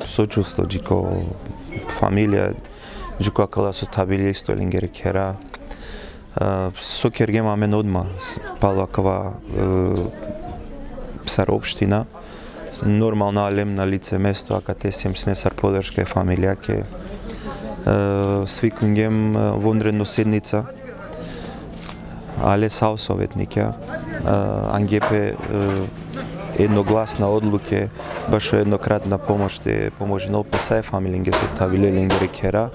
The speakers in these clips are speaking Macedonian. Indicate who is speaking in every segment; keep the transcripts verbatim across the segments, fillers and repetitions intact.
Speaker 1: Сочувство джико фамилија джико акала со табили исто лингери кера со кергема мен одма пала кава сар општина нормално алем на лице место ака те сем снесар подршка фамилија ке свикунгем вонредно седница але сао советникја ангепе едногласна одлуке баш еднократна помош те поможено песај фамилинге со табиле лингери кера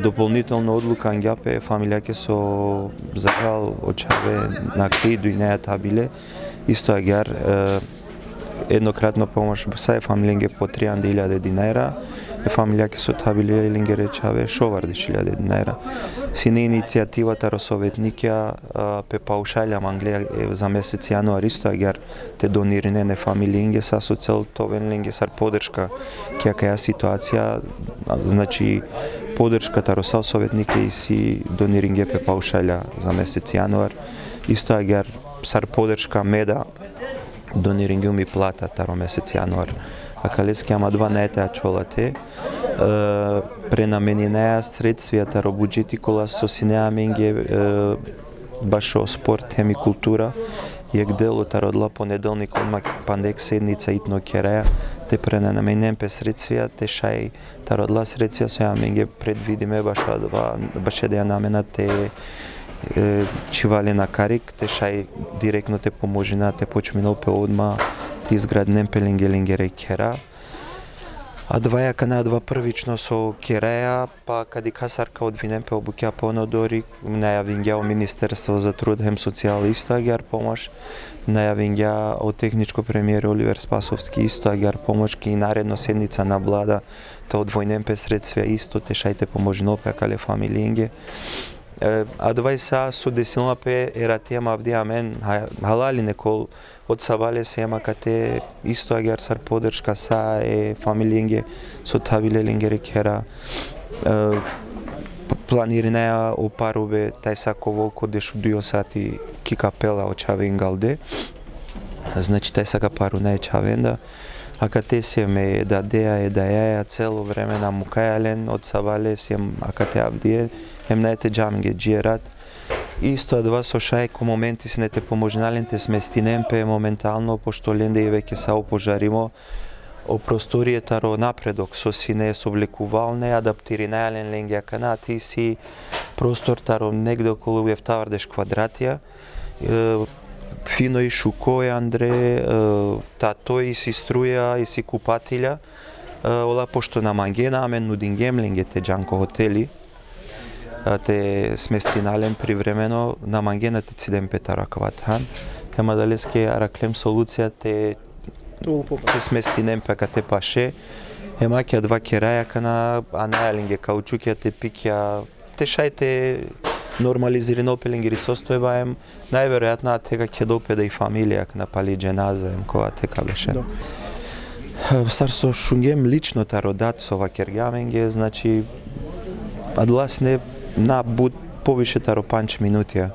Speaker 1: дополнително одлука ангјапе фамилјаке со захал очаве на криду и неја табиле исто агар еднократна помош сај фамилинге по тријанде илјаде динаира е фамилјаке со табиле лингери чаве шовардиш илјаде динаира сине иницијативата росоветникја пе паушалја манглија за месец јануар исто агар те донирине не фамилинге са со цел товенлинге сар подршка ке каја ситуација значи подршката росал советнике и си дониринге пе паушалја за месец јануар исто агар сар подршка меда дониринге ми плата таро месец јануар акалески ама два најтеа чолате пренаменинеа средствијата ро буџети кола со синеа менге баш о спорт теми култура јек дело тародла понеделник одма пандек седница итно кереја те пренаменен пе средствија те шај тародла средствија со ја менге предвидиме баш два баш да ја намена те чивале на карик те шај директно те поможина те почминол пе одма те изграднем пе линге лингере кера а два јака на два првично со кереја па кади касарка одвинем пе обуќа понодори најавингја Министерство за труд хем социјал исто агар помош најавингја од техничко премиер Оливер Спасовски исто агар помош ки наредно седница на влада те одвојнем пе средствија исто те шајте поможинол пе кале фамилиинге а двај са со десилна пе ера тема авдија мен халали некол од сабале се ема кате исто агар сар подршка са е фамилиинге со табиле лингери кера планиринеа опаруве тај сако волко дешу дујо сати ки капела очаве ингалде значи тај сака пару не чавенда а кате семе да деа е да јаја цело време на мукајален од сабале сем а кате авдие хем наете джаминге джиерат исто два со шајко моменти се не те поможнален те сместинем пе моментално пошто ленде и веќе са опожаримо о просторијата ро напредок со сине со влекувалне адаптиринајален ленге кана ти си простор таро негде околу ефтавардеш квадратија фино и шуко е Андре та тој и си струја и си купатилја ола пошто на мангена амен нудингем ленге те джанко хотели те сместинален привремено на мангена те цидем петара кватхан ема далеске араклем солуција те те сместинем пека те паше ема ке два кераја кана анајалинге каучукја те пикја те шајте нормализирино пеленгери состојбаем најверојатно тега ќе допеда и фамилија на пали дженаза ем кога тека беше сар со шунгем лично тародат со вакергјаменге значи адласне на буд повише таро панч минутија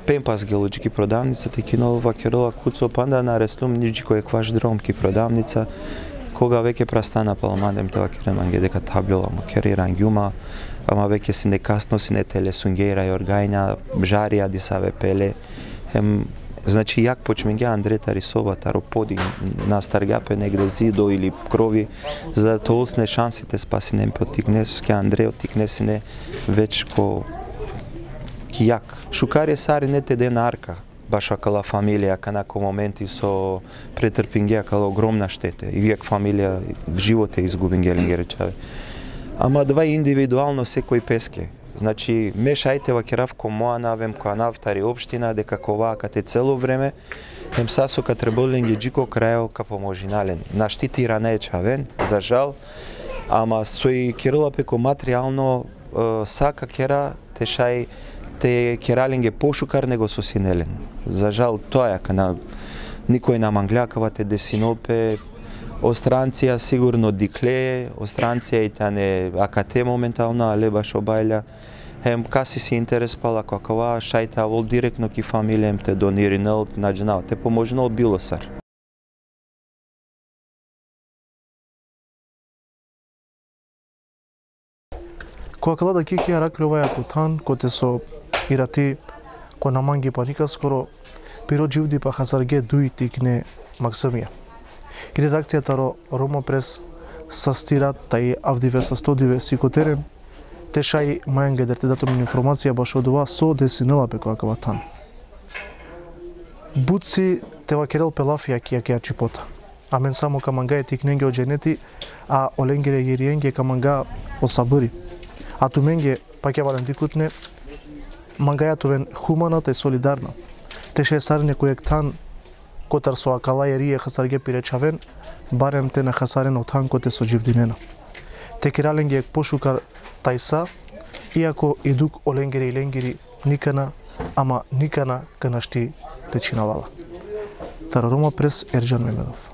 Speaker 1: пемпас гелоџики продавница те кинол вакерова куцо панда на рестум ниџи кој кваш дромки продавница кога веќе прастана паламандем те вакереманге дека таблила му кери рангјума ама веќе си не касно си не теле сунгеира и оргајна жарија дисаве пеле ем значи јак почмење Андрета рисова таро поди на старгапе негде зидо или крови за да толсне шансите спасинем по тикнеске Андре тикнесине веќе ко јак шукари сари не те ден арка баш акала фамилија канако моменти со претрпинге акала огромна штета и вијак фамилија живот е изгубин гелинге речаве ама два индивидуално секој песке Значи, мешајте во керавко моа навем која навтари општина, дека коваа кате цело време, ем сасо ка треболенге джико крајо ка поможинален. Наштитира не е чавен, за жал, ама сој Кирила пеко материјално сака кера, те шај, те кералинге пошукар него сосинелен. За жал, тоа е кана никој на манглјакавате десинопе, Остранција сигурно дикле, Остранција и тане акате моментално, але баш обајля. Ем каси си интерес пала какова, шајта вол директно ки фамилијем те дониринел, наđенал, те поможнал билосар.
Speaker 2: Која кала да кики ја ракли оваја кутан, коте со ирати, ко наманги паника скоро, пиро дживди па хазарге дуи тикне Максимија. И редакцијата ро Рома Прес састират тај авдиве са стодиве сикотерен, те шај мајанге дерте датум информација баш од ова со десинела пе која каватан. Буци тева керел пелафија кија кија чипота. Амен само каманга е тикненге од женети, а оленгере јериенге каманга од сабыри. А туменге пак ја вален дикутне, мангајатовен хуманата и солидарна. Те ше сарене којек тан котар со акала јерие хасарге пиречавен, барем те на хасарен од тан коте со дживдинена. Те кираленге пошукар тајса, иако идук оленгери и ленгери никана, ама никана канашти течинавала. Таро Рома Прес, Ерџан Мемедов.